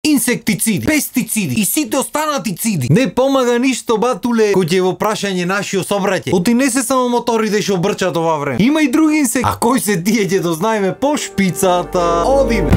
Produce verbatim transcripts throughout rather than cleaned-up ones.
инсектициди, пестициди и сите останати циди. Не помага ништо, батуле, кој ќе во прашање нашиот собраќе. Оти не се само моторите што брчат ова време. Има и други инсекти. А кои се тие ќе дознаеме по шпицата. Одиме.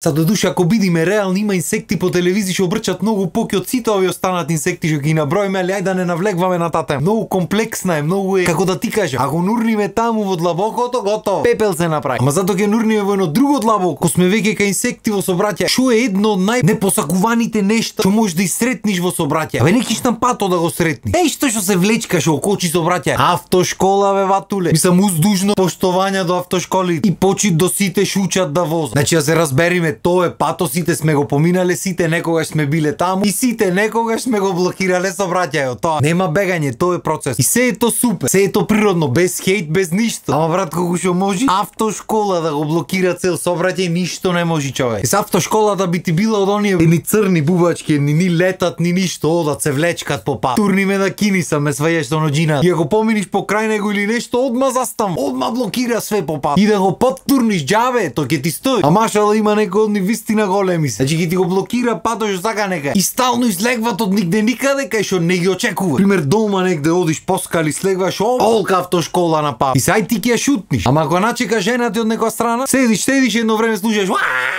Са до душа, ако бидиме реални, има инсекти по телевизија што обрчат многу поки од сите овие останати инсекти што ги наброиме, али ајде да не навлегваме на таа тема. Многу комплексна е, многу е, како да ти кажам, ако нурниме таму во длабокото, готово. Пепел се направи. Ама затоа ќе нурниме во едно друго длабоко, кога сме веќе кај инсекти во собраќа, што е едно од најнепосакуваните нешта што можеш да исретниш во собраќа. Абе не кишнам пато да го сретни. Еј што што се влечкаш околчи собраќа. Автошкола, бе, ватуле. Мислам уздужно поштовање до автошколи и почит до сите шучат да возат. Значи да се разбериме, тоа е пато, сите сме го поминале, сите некогаш сме биле таму и сите некогаш сме го блокирале сообраќајот. Тоа нема бегање, тоа е процес. И се е то супер, се е то природно, без хейт, без ништо. Ама брат, колку што може автошкола да го блокира цел сообраќај, ништо не може човек. С автошколата би ти била од оние ни црни бубачки, ни ни летат, ни ништо, одат се влечкат по пат. Турни ме да кинисам, ме свајаш со ноџина. И ако поминиш покрај него или нешто, одма застам, одма блокира све по пат. И да го поттурниш џабе, тоа ќе ти стои. А машала има некој од нив вистина големи се. Значи ќе ти го блокира пато што сака нека. И стално излегват од нигде никаде кај што не ги очекува. Пример дома негде одиш по скали, слегваш, олка автошкола на пат. И сај ти ќе ја шутниш. Ама ако начека жена ти од некоја страна, седиш, седиш едно време слушаш,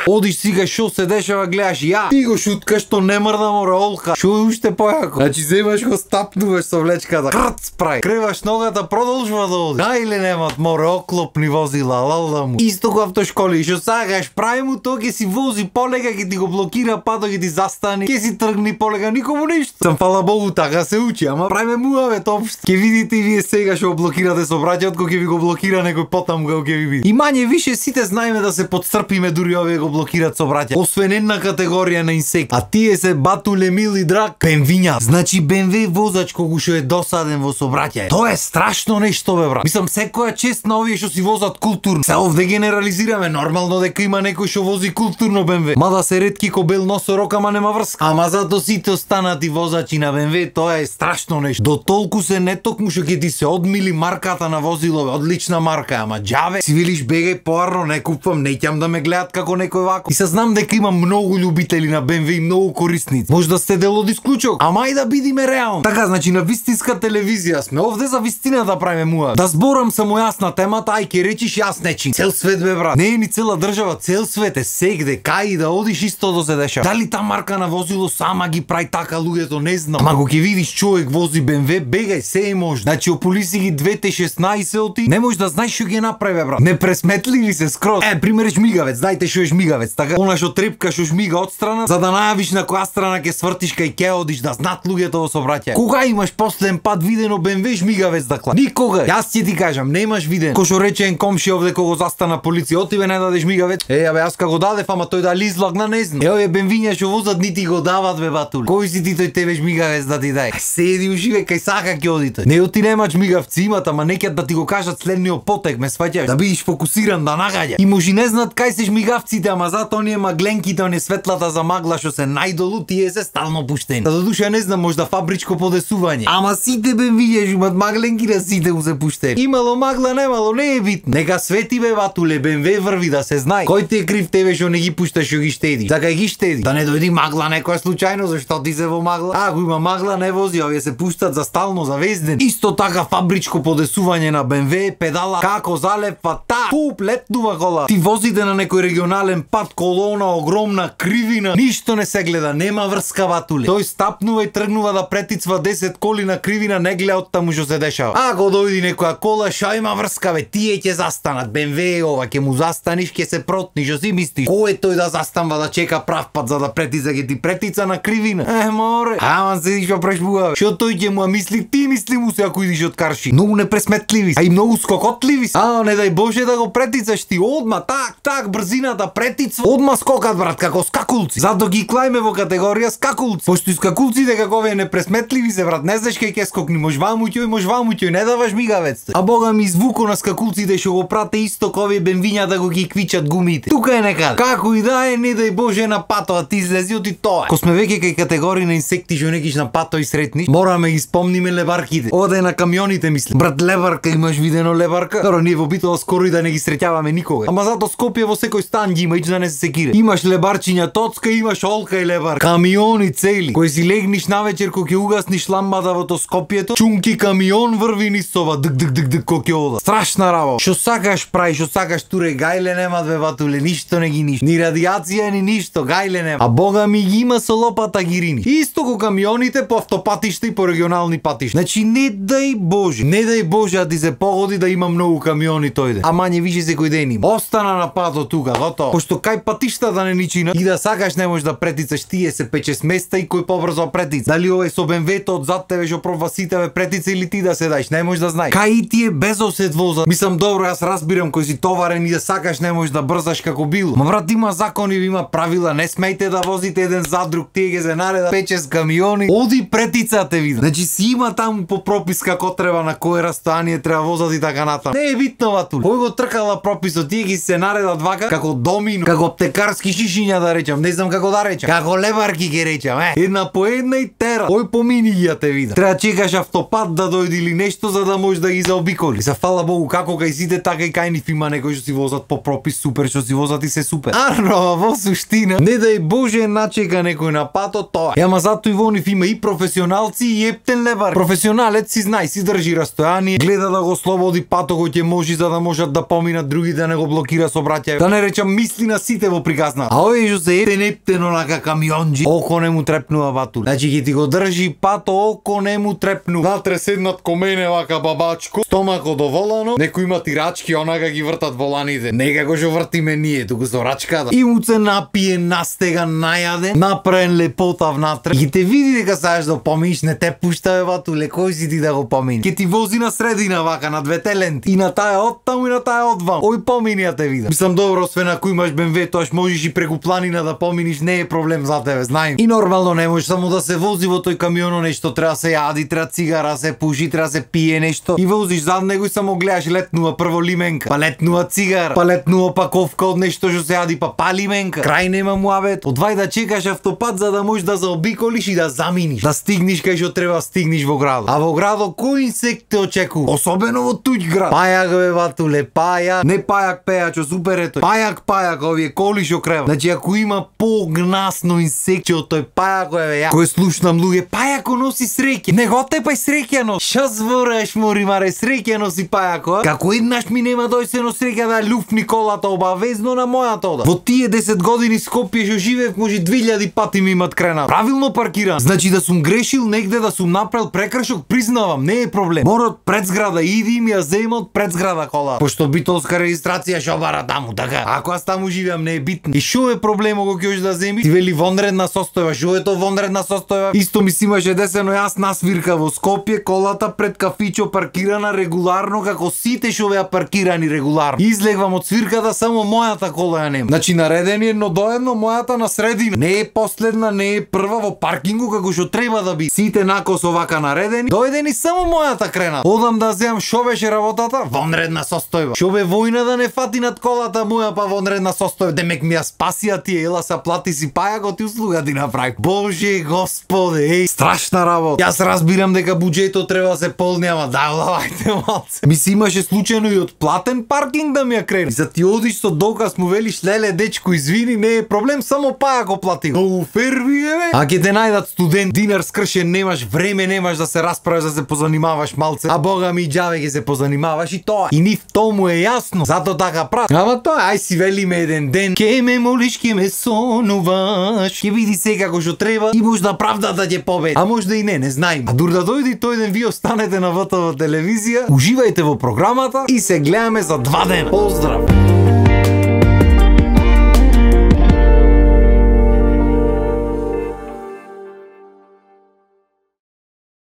одиш сега што се дешава, гледаш, ја ти го шуткаш, што не мрда мора олка. Што е уште појако. Значи земаш го стапнуваш со влечката, крц прај. Креваш ногата, продолжува да одиш. Да или немат море оклопни возила, лалда му. Исто ко автошколи, што сакаш, прави му тоа, ќе си вози полека, ќе ти го блокира пато, ќе ти застани, ќе си тргни полека, никому ништо. Сам фала Богу така се учи, ама правиме муавет општо. Ќе видите и вие сега што блокирате сообраќајот, кога ќе ви го блокира некој потаму кога ќе ви види. И мање више сите знаеме да се подстрпиме дури овие го блокираат сообраќај. Освен една категорија на инсекти, а тие се батуле мили драг бенвиња. Значи бе ем ве возач кога што е досаден во сообраќај. Тоа е страшно нешто, бе брат. Мислам секоја чест на овие што си возат културно. Се овде генерализираме, нормално дека има некој што вози културно бе ем ве. Мада се ретки ко бел носорог, ама нема врска. Ама зато сите останати возачи на бе ем ве, тоа е страшно нешто. До толку се не токму што ќе ти се одмили марката на возило, одлична марка, ама џаве си велиш бегај поарно, не купувам, не ќам да ме гледат како некој вако. И се знам дека има многу љубители на бе ем ве и многу корисници. Може да сте дел од исклучок, ама и да бидиме реални. Така, значи на вистинска телевизија сме, овде за вистина да правиме муа. Да зборам само јас на темата, ај ќе речиш јас нечим. Цел свет бе брат. Не е ни цела држава, цел свет е сегде, кај да одиш исто да се деша. Дали та марка на возило сама ги прави така, луѓето не знам. Ама ако ќе видиш човек вози бе ем ве, бегај, се е може. Значи ополиси ги двете шеснаесет, не можеш да знаеш што ги направи брат. Не пресметливи се скроз. Е, пример жмигавец, знаете што е жмигавец, така? Она што трепка што жмига од страна, за да најавиш на која страна ќе свртиш кај ќе одиш, да знаат луѓето во сообраќај. Кога имаш последен пат видено бе ем ве жмигавец да клака? Никога. Јас ќе ти кажам, немаш виден. Ко што рече ен комши овде кога застана полиција, отиве не даде жмигавец. Е, абе јас како дадев, ама тој дали излагна не знам. Е, овие бе ем виња што возат нити го дават бе батули. Кој си ти тој тебе жмигавец да ти дај? Седи уживе кај сака ќе оди тој. Не оти нема жмигавци имат, ама некад да ти го кажат следниот потек, ме сваќаш, да бидиш фокусиран да нагаѓа. И може не знаат кај се жмигавците, ама зато оние магленките, оние светлата за магла што се најдолу, тие се стално пуштени. Да додуша не знам, можда фабричко подесување. Ама сите бе видиш имат магленки да сите му се пуштени. Имало магла, немало, не е битно. Нека свети бе батуле, бе ем ве врви да се знае. Кој ти е крив тебе што не ги пушташ, што ги штеди? Така ги штеди. Да не дојди магла некоја случајно, зашто ти се во магла? А, ако има магла не вози, овие се пуштат за стално, за везден. Исто така фабричко подесување на бе ем ве, педала како залепва та, туп летнува кола. Ти возите на некој регионален пат, колона огромна, кривина, ништо не се гледа, нема врска батуле. Тој стапнува и тргнува да претицва десет коли на кривина, не гледа од таму што се дешава. Ако дојди некоја кола, ша има врска бе, тие ќе застанат, бе ем ве ова, ќе му застаниш, ќе се протниш, што си мислиш? Кој е тој да застанва да чека прав пат за да претица, ќе ти претица на кривина? Е, море. Ама седиш па прешбува. Што тој ќе му мисли, ти мисли му се ако идиш од карши. Многу непресметливи, а и многу скокотливи. А, не дај Боже да го претицаш ти, одма так, так брзината претицва. Одма скокат брат, како скакулци. Зато ги клајме во категорија скакулци. Пошто и скакулците како овие непресметливи се брат, не знаеш кај ќе скокни, може ваму ќој, може ваму ќој, не даваш мигавец. А бога ми звуко на скакулците што го прате исто ко овие бе ем виња да го ги квичат гумите. Тука е некаде. Како и да е, не дај Боже на пато, а ти излези од и тоа. Ко сме веќе кај категории на инсекти што некиш на пато и сретниш, мораме ги спомниме лебарките. Ова е на камионите, мислам. Брат, лебарка, имаш видено лебарка? Добро, ние во Битола скоро и да не ги среќаваме никога. Ама зато Скопје во секој стан ги има, ич да не се секире. Имаш лебарчиња тоцка, имаш олка и лебар. Камиони цели. Кој си легниш навечер кога ќе угасниш ламбата во то Скопјето, чунки камион врви низ сова, дк дк дк дк кој ќе ода. Страшна работа. Што сакаш прави, што сакаш туре, гајле нема две батуле, ништо не ги ништо. Ни радиација ни ништо, гајле нема. А бога ми ги има со лопата гирини. Исто ко камионите по автопатишта и по регионални патишта. Значи не дај Боже, не дај Боже да ти се погоди да има многу камиони тој ден. А мање више секој ден има. Остана на пато тука, готово. Пошто кај патишта да не ничина и да сакаш не можеш да претицаш, тие се пече места и кој побрзо претица. Дали овој со бемвето од зад тебе што пробва сите ве претица или ти да се дајш, не можеш да знаеш. Кај ти е без осет воза. Мислам добро, јас разбирам кој си товарен и да сакаш не можеш да брзаш како било. Ма брат, има закони, има правила, не смејте да возите еден за друг, тие ги се нареда печес камиони. Оди претица те видам. Значи си има таму по пропис како треба, на кое растојание треба возат и така натаму. Не е битно ватул. Кој го тркала прописот, тие ги се наредат вака како домино, како аптекарски шишиња да речам, не знам како да речам, како лебарки ги речам, е. Една по една и тера. Ој помини ги ја те видам. Треба чекаш автопат да дојде или нешто за да можеш да ги заобиколи. За фала Богу, како кај сите така и кај нив има некои што си возат по пропис, супер, што си возат и се супер. Арно, во суштина, не дај Боже начека некој на пато тоа. Ама зато и во нив има и професионалци и ептен лебар. Професионалец си знае, си држи растојание, гледа да го слободи пато кој ќе може за да можат да поминат други, да не го блокира со браќа. Да не речам мисли на сите во приказна. А овој што се ептен ептен онака камионџи, око не му трепнува батул. Значи ќе ти го држи пато, око не му трепну. Натре седнат ко мене вака бабачко, стомако доволано, некои има тирачки, онака ги вртат воланите. Не како што вртиме ние, туку со рачката. И му се напие, настега, најаден, направен лепота внатре. И те види дека саеш да поминиш, не те пушта бе батуле, кој си ти да го поминиш? Ке ти вози на средина вака, на двете ленти. И на таа од таму и на таа од вам. Ој помини ја те видам. Мислам добро, освен ако имаш бемве, тоаш можеш и преку планина да поминиш, не е проблем за тебе, знаем. И нормално не можеш само да се вози во тој камионо, нешто треба се јади, треба цигара, се пуши, треба се пие нешто. И возиш зад него и само гледаш, летнува прво лименка, па летнува цигара, па летнува паковка од нешто што се јади, па па лименка. Крај нема муабет. Одвај да чекаш автопат за да можеш да заобиколиш и да заминиш, да стигнеш кај што треба стигнеш во градот. А во градот кој инсект те очекува? Особено во туѓ град. Пајак бе батуле, пајак, не пајак пејачо, супер е тој. Пајак пајак, овие коли што крева. Значи ако има погнасно инсекче од тој пајак е ја, кој слушнам луѓе, пајако носи среќа. Не го тепај среќа носи. Ша збораш мори маре, среќа носи пајако, а? Како еднаш ми нема дојсено среќа да люфни колата обавезно на мојата ода. Во тие десет години Скопје што живеев, може две илјади пати ми имат кренат. Правилно паркиран. Значи да сум грешил негде, да сум направил прекршок, признавам, не е проблем. Мора од пред зграда иди и ми ја зема од пред зграда кола. Пошто битолска регистрација што бара таму, така. Ако аз таму живеам не е битно. И што е проблемот кога ќе да земиш? Ти вели вонредна состојба, што е тоа вонредна состојба? Исто ми си имаше десено јас на свирка во Скопје, колата пред кафичо паркирана регуларно како сите што беа паркирани регуларно. Излегвам од свирката, само мојата кола ја нема. Значи наредени едно до едно, мојата на средина. Не е последна, не е прва во паркингу како што треба да би. Сите накосо вака наредени, дојдени само мојата крена. Одам да земам шо беше работата? Вонредна состојба. Шо бе војна да не фати над колата моја, па вонредна состојба. Демек ми ја спасија тие, ела са плати си пајакот и услуга ти направи. Боже Господе, еј, страшна работа. Јас разбирам дека буџетот треба да се полни, ама да лавајте малце. Ми си имаше случајно и од платен паркинг да ми ја крени. За ти одиш со доказ му велиш леле дечко извини, не е проблем, само пајако платил. Многу ферви е бе. А ќе те најдат студент, динар скршен, немаш време, немаш да се расправиш, да се позанимаваш малце. А бога ми џаве ќе се позанимаваш и тоа. И нив тому е јасно. Зато така прат. Ама тоа, ај си велиме еден ден. Ке ме молиш, ке ме сонуваш. Ќе види секако што треба и можда правдата ќе победи. А можда и не, не знаем. А дур да дојде тој ден, ви останете на ВТВ телевизија, уживајте во програмата и се гледаме за два дена. Поздрав!